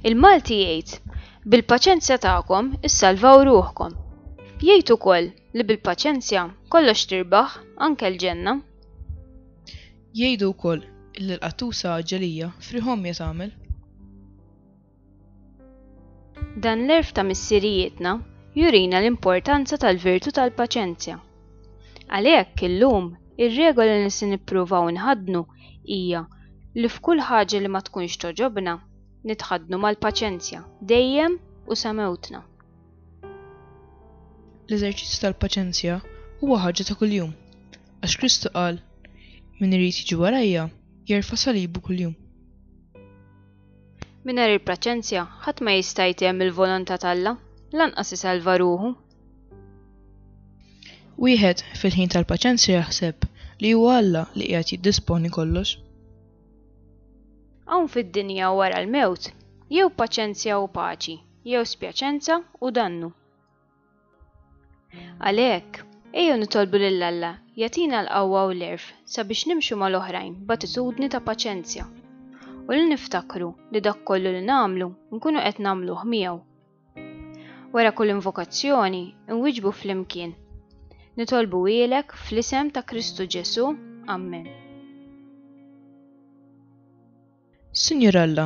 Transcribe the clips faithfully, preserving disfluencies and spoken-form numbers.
Il-Malti jgħid, bil-paċenzja tagħkom issalvaw ruħkom. Jgħid ukoll li bil-paċenzja kollox tirbaħ anke l-ġenna. Jgħidu wkoll illi l-qattusa għaġġelija frieħ għomja tagħmel. Dan l-għerf ta' missirijietna jurina l-importanza tal-virtù tal-paċenzja. Għalhekk illum ir-regola li se nippruvaw nħaddnu hija li f'kull ħaġa li ma tkunx togħġobna nitħaddnu mal-paċenzja dejjem u sa mewtna. L-eżerċizzju tal-paċenzja huwa ħaġa ta' kuljum, għax Kristu qal min irid jiġi warajja jerfa' salibu kuljum. Mingħajr il-paċenzja ħadd ma jista' jtemm il-volontà t'Alla, lanqas isalva ruħu. Wieħed fil-ħin tal-paċenzja jaħseb li huwa Alla li qiegħed jiddisponi kollox. Hawn fid-dinja wara l-mewt, jew paċenzja u paċi, jew spjaċenza u dannu. Għalhekk, ejjew nitolbu lil Alla jagħtina l-qawwa u l-għerf sabiex nimxu mal-oħrajn b'attitudni ta' paċenzja u li niftakru li dak kollu li nagħmlu nkunu qed nagħmluh miegħu. Wara kull invokazzjoni nwiġbu flimkien. Nitolbu ilek fl-isem ta' Kristu Ġesu. Amen. Sinjur Alla,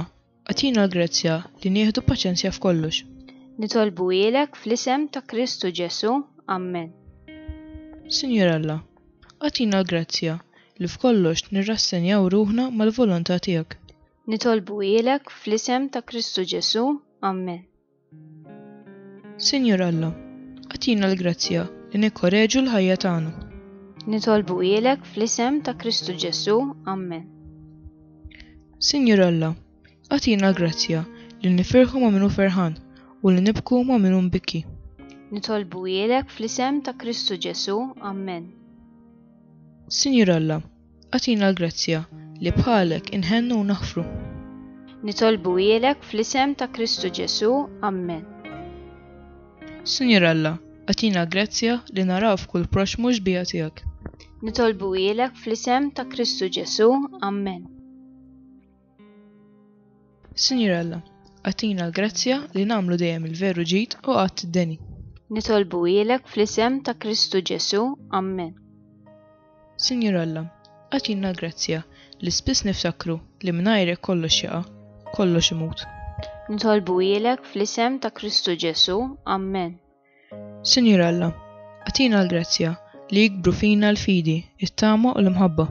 agħtina l-grazzja li nieħdu paċenzja f'kollox. Nitolbu ilek fl-isem ta' Kristu Ġesu. Amen. Sinjur Alla, agħtina l-grazzja li f'kollox nirrassenjaw ruħna mal-volontà tiegħek. Nitolbu ilek fl-isem ta' Kristu Ġesu. Amen. Sinjur Alla, agħtina l-grazzja li nikkoreġu l-ħajja tagħna. Nitolbu ilek fl-isem ta' Kristu Ġesu. Amen. Sinjur Alla, agħtina l-grazzja li nifirħu ma' min hu ferħan u li nibku ma' min hu mbikki. Nitolbu ilek fl-isem ta' Kristu Ġesu. Amen. Sinjur Alla, agħtina l-grazzja li bħalek inħennu u naħfru. Nitolbu ilek fl-isem ta' Kristu Ġesu. Amen. Sinjur Alla, agħtina l-grazzja li naraw f'kull proxxmu x-xbieha tiegħek. Nitolbu ilek fl-isem ta' Kristu Ġesu. Amen. Sinjur Alla, agħtina l-grazzja li nagħmlu dejjem il-veru ġid u qatt id-deni. Nitolbu ilek fl-isem ta' Kristu Ġesu. Amen. Sinjur Alla, agħtina l-grazzja li spiss niftakru li mingħajrek kollox jaqa', kollox imut. Nitolbu ilek fl-isem ta' Kristu Ġesu. Amen. Sinjur Alla, agħtina l-grazzja li jikbru fina l-fidi, it-tama u l-imħabba.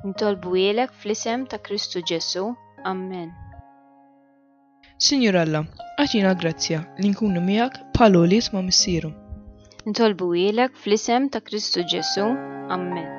Nitolbu ilek fl-isem ta' Kristu Ġesu. Amen. Sinjur Alla, agħtina l-grazzja li nkunu miegħek bħal ulied ma' missierhom. Nitolbu ilek fl-isem ta' Kristu Ġesu. Amen.